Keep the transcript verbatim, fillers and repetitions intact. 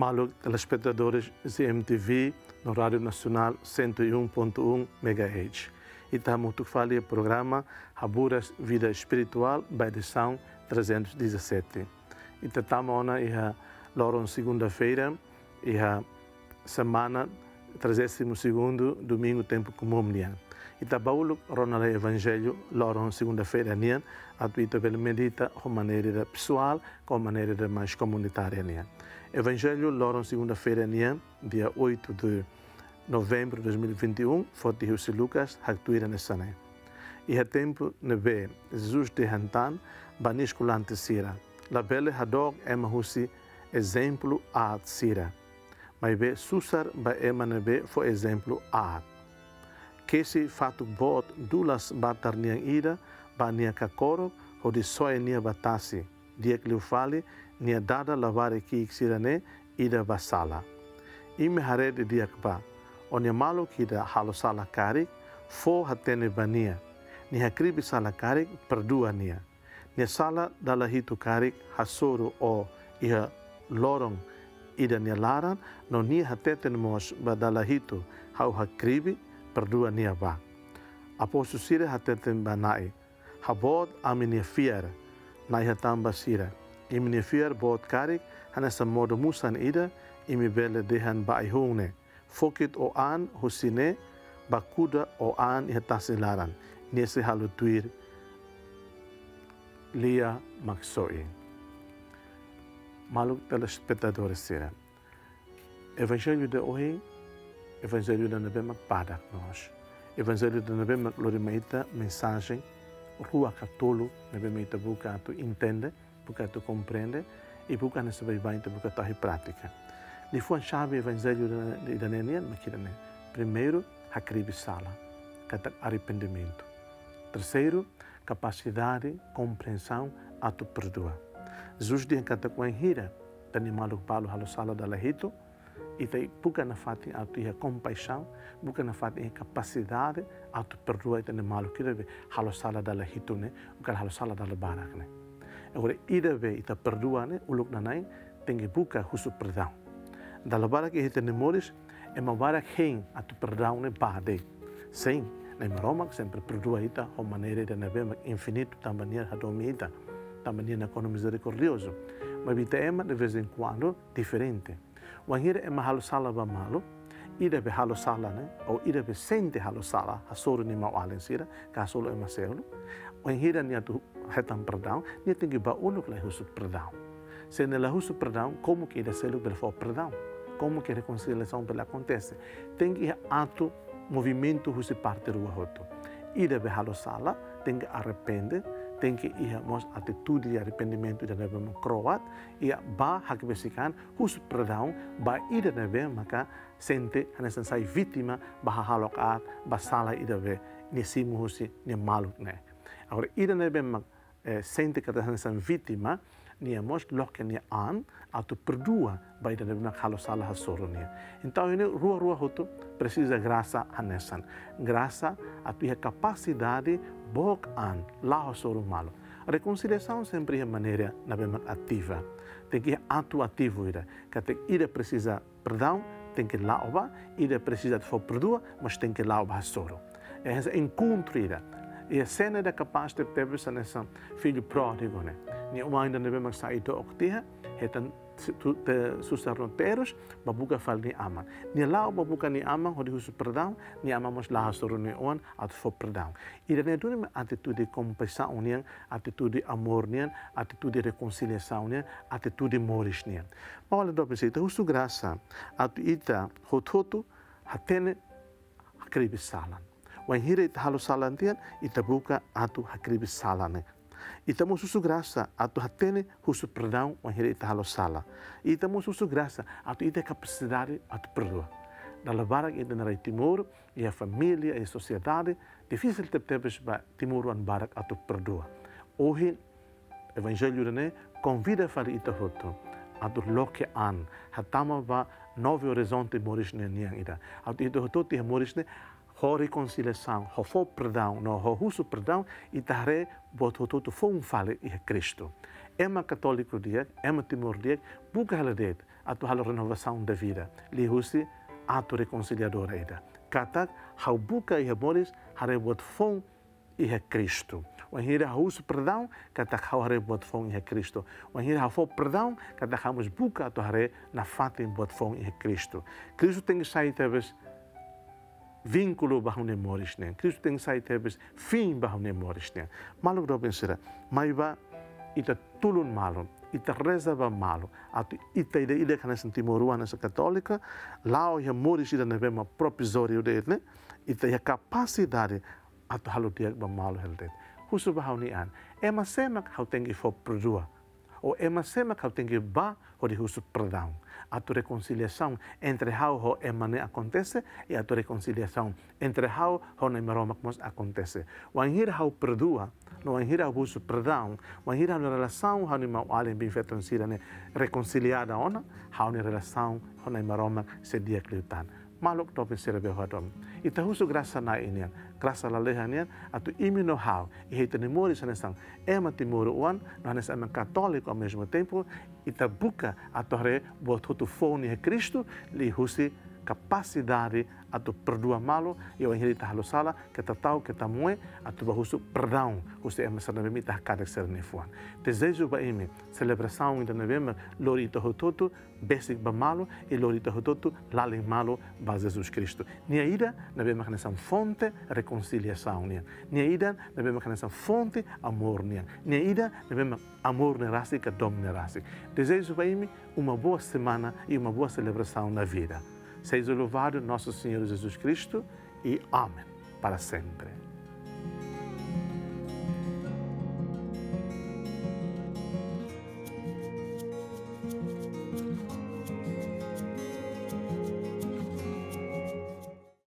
Maluk telespetadores C M T V no Rádio Nasionál cento e um ponto um megahertz. Ita hamutuk fali iha programa Haburas Vida Espirituál ba edisaun trezentos e dezassete. Ita tama ona iha loron segunda-feira, iha semana trigésimo segundo, domingu tempu komún nian. Ita ba uluk rona lai Evanjellu loron segunda-feira nian, atu ita bele medita ho maneira ida pesoál, ho maneira ida mais komunitária nian. Evanjellu loron segunda-feira nian, dia oito de novembro de dois mil e vinte e um, foti husi Lucas, haktuir hanesan ne'e: Iha tempu ne'ebé, Jesus dehan tan ba nia eskolante sira: Labele hadook ema husi ezemplu aat sira, maibé susar ba ema ne'ebé fó ezemplu aat. Kesi fatuk boot dulas batar nian ida ba nia kakorok, hodi soe nia ba tasi, di'ak liu fali, nia dada labarik ki'ik sira-ne'e ida ba sala. Imi haree didi'ak ba: Ó-nia maluk ida halo sala karik, fó hatene ba nia. Nia hakribi sala karik, perdua nia. Nia sala dala hitu karik, hasoru ó iha loron ida nia laran, no nia hateten mós ba dala hitu: Ha'u hakribi, perdua nia ba. Apóstolu sira hateten ba Na'i: Haboot ami-nia fiar. Na'i hatán ba sira: Imi-nia fiar boot karik, hanesan modo musan ida, imi bele dehan ba ai-hun ne'e: Fokit ó-an husi ne'e ba kuda ó-an iha tasi laran, nia sei halo tuir, lia mak soe. Maluk telespetadores sira, Evanjellu ida ohin, Evanjellu ida ne'ebé mak badak loos. Evanjellu ida ne'ebé mak lori mai ita mensajen rua ka tolu ne'ebé mak ita buka atu entende, buka atu komprende, i buka hanesan baibain ita buka atu tau iha prátika. Liafuan xave Evanjellu ida, ida-ne'e nian mak ida-ne'e. Primeiru, hakribi sala, katak arrependimentu. Terseiru, kapasidade, komprensaun atu perdua. Jesus dehan katak wainhira ita-nia maluk balu halo sala dala hitu, ita buka nafatin atu iha kompaixaun, buka nafatin iha kapasidade atu perdua ita-nia maluk ida be halo sala dala hitu ne'e, ou halo sala dala barak ne'e. Agora, ida be ita perdua ne'e, uluk nanain tenke buka husu perdaun. Dala barak iha ita-nia moris, ema barak hein atu perdaun ne'e ba de'it. Sin, Na'i Maromak sempre perdua ita ho maneira ida ne'ebé mak infinitu, tanba nia hadomi ita, tanba nia nakonu mizerikordiozu. Maibé ita ema, de vez em quando, diferente. Wainhira ema halo sala ba malu, ida be halo sala ne'e, ou ida be sente halo sala, hasoru nia maun-alin sira, ka hasoru ema seluk. Wainhira nia atu hetan perdaun, nia tenke ba uluk lai husu perdaun. Se nia la husu perdaun, komu ke ida seluk bele fó perdaun? Komu ke rekonsiliasaun bele akontese? Tenke iha atu, movimentu husi parte rua hotu. Ida be halo sala, tenke arrepende, tenke iha mós atitude de arrependimentu ida ne'ebé mak kro'at, i ba hakbesik an husu perdaun ba ida ne'ebé maka sente hanesan sai vítima ba hahalok aat, ba sala ida be nia simu husi nia maluk ne'e. Agora, ida ne'ebé mak, eh, sente katak hanesan vítima, nia mós loke nia an atu perdua ba ida ne'ebé mak halo sala hasoru nia. Entaun, ne'e rua-rua hotu presiza grasa hanesan. Grasa atu iha kapasidade book an, la'o hasoru malu. Rekonsiliasaun sempre iha maneira ne'ebé mak ativa. Tenke iha atu ativu ida. Katak ida presiza perdaun, tenke la'o ba, ida presiza fó perdua, mas tenke la'o ba hasoru. Hanesan enkontru ida. Iha sena ida kapás tebetebes hanesan fillu pródigu ne'e. Nia oan ida ne'ebé mak sai dook tiha, hetan si-, tu-, te-, susar no terus, ba buka fali nia aman. Nia la'o ba buka nia aman, hodi husu perdaun, nia aman mós la hasoru nia oan atu fó perdaun. Ida-ne'e duni mak atitude kompaixaun nian, atitude amór nian, atitude rekonsiliasaun nian, atitude moris nian. Maun-alin doben sira, ita husu grasa atu ita hotu-hotu hatene hakribi sala. Wainhira ita halo sala tiha, ita buka atu hakribi sala ne'e. Ita mós husu grasa atu hatene husu perdaun wainhira ita halo sala. Ita mós husu grasa atu ita kapasidade atu perdua. Dala barak ita iha rai Timor, iha família, iha sosiedade, difisil tebetebes ba timoroan barak atu perdua. Ohin, Evanjellu ida-ne'e konvida fali ita hotu atu loke an, hatama ba Novo Horizonte moris ne'e nian ida. Atu ita hotu-hotu iha moris ne'e ho rekonsiliasaun, ho fó perdaun, no ho husu perdaun, ita haree buat hotu-hotu foun fali iha Kristu. Ema katóliku di'ak, ema Timor di'ak, buka hela de'it atu halo renovasaun da vida liuhusi atu rekonsiliadór ida. Katak ha'u buka iha moris haree buat foun iha Kristu. Wainhira ha'u husu perdaun, katak ha'u haree buat foun iha Kristu. Wainhira ha'u fó perdaun, katak ha'u mós buka atu haree nafatin buat foun iha Kristu. Kristu tenke sai tebes vínkulu ba ha'u-nia moris nian. Kristu tenke sai tebes fin ba ha'u-nia moris nian. Maluk doben sira, mai bá ita tulun malu, ita reza ba malu, atu ita ida-idak hanesan timoroan, hanesan katólika, la'o iha moris ida ne'ebé mak provizóriu de'it ne'e, ita iha kapasidade atu halo di'ak ba malu hela de'it. Husu ba ha'u-nia an, ema sé mak ha'u tenke fó perdua? Ou ema sé mak ha'u tenke bá hodi husu perdaun? Atu rekonsiliasaun entre ha'u ho ema ne'e akontese, i atu rekonsiliasaun entre ha'u ho Na'i Maromak mós akontese. Wainhira ha'u perdua, no wainhira ha'u husu perdaun, wainhira ha'u-nia relasaun ho ha'u-nia maun-alin biin-feton sira-ne'e rekonsiliada ona, ha'u-nia relasaun ho Na'i Maromak sei di'ak liután. Maluk doben sira, bele hadomi, ita husu grasa Na'i nian, grasa lalehan nian, atu imi no ha'u, iha ita-nia moris hanesan ema timoroan, no hanesan ema katóliku ao mesmo tempo, ita buka atu haree buat hotu foun iha Kristu, liuhusi kapasidade atu perdua malu, i wainhira ita halo sala, keta ta'uk, keta moe, atu bá husu perdaun husi ema sira ne'ebé mak ita hakanek sira-nia fuan. Dezeju ba imi selebrasaun ida ne'ebé mak lori ita hotu-hotu besik ba malu, i lori ita hotu-hotu lalin malu ba Jesus Kristu. Nia ida ne'ebé mak hanesan fonte rekonsiliasaun nian. Nia ida ne'ebé mak hanesan fonte amór nian. Nia ida ne'ebé mak amór ne'e rasik ka domin ne'e rasik. Dezeju ba imi uma boa semana e uma boa celebração na vida. Seja louvado nosso Senhor Jesus Cristo e amém. Para sempre.